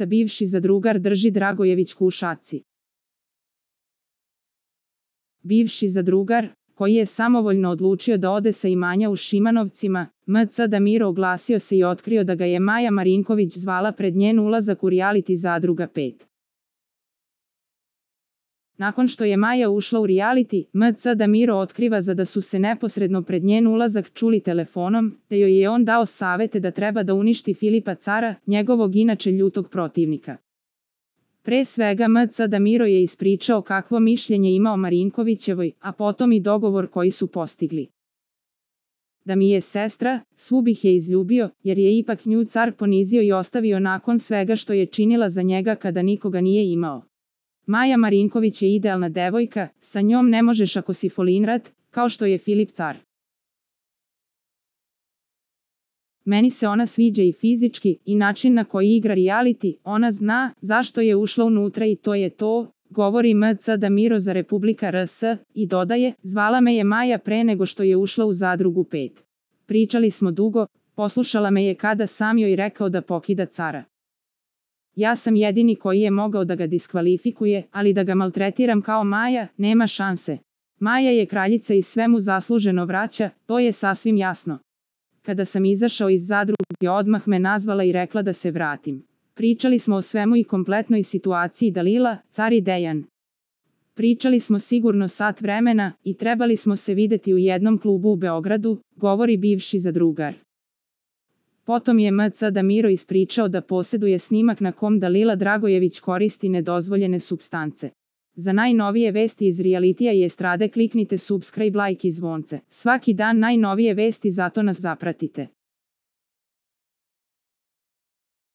bivši zadrugar drži Dragojevićku u šaci. Bivši zadrugar, koji je samovoljno odlučio da ode sa imanja u Šimanovcima, M.C. Damiro oglasio se i otkrio da ga je Maja Marinković zvala pred njen ulazak u reality Zadruga 5. Nakon što je Maja ušla u reality, M.C. Damiro otkriva da su se neposredno pred njen ulazak čuli telefonom, te joj je on dao savete da treba da uništi Filipa Cara, njegovog inače ljutog protivnika. Pre svega M.C. Damiro je ispričao kakvo mišljenje ima o Marinkovićevoj, a potom i dogovor koji su postigli. Da mi je sestra, svu bih je izljubio, jer je ipak nju Car ponizio i ostavio nakon svega što je činila za njega kada nikoga nije imao. Maja Marinković je idealna devojka, sa njom ne možeš ako si folinrat, kao što je Filip Car. Meni se ona sviđa i fizički, i način na koji igra reality, ona zna zašto je ušla unutra i to je to, govori M.C. Damiro za Republika RS, i dodaje, zvala me je Maja pre nego što je ušla u Zadrugu 5. Pričali smo dugo, poslušala me je kada sam joj rekao da pokida Cara. Ja sam jedini koji je mogao da ga diskvalifikuje, ali da ga maltretiram kao Maja, nema šanse. Maja je kraljica i sve mu zasluženo vraća, to je sasvim jasno. Kada sam izašao iz Zadruge, odmah me nazvala i rekla da se vratim. Pričali smo o svemu i kompletnoj situaciji Dalila, Car i Dejan. Pričali smo sigurno sat vremena i trebali smo se videti u jednom klubu u Beogradu, govori bivši zadrugar. Potom je M.C. Damiro ispričao da posjeduje snimak na kom Dalila Dragojević koristi nedozvoljene supstance. Za najnovije vesti iz realitija i estrade kliknite subscribe, like i zvonce. Svaki dan najnovije vesti, zato nas zapratite.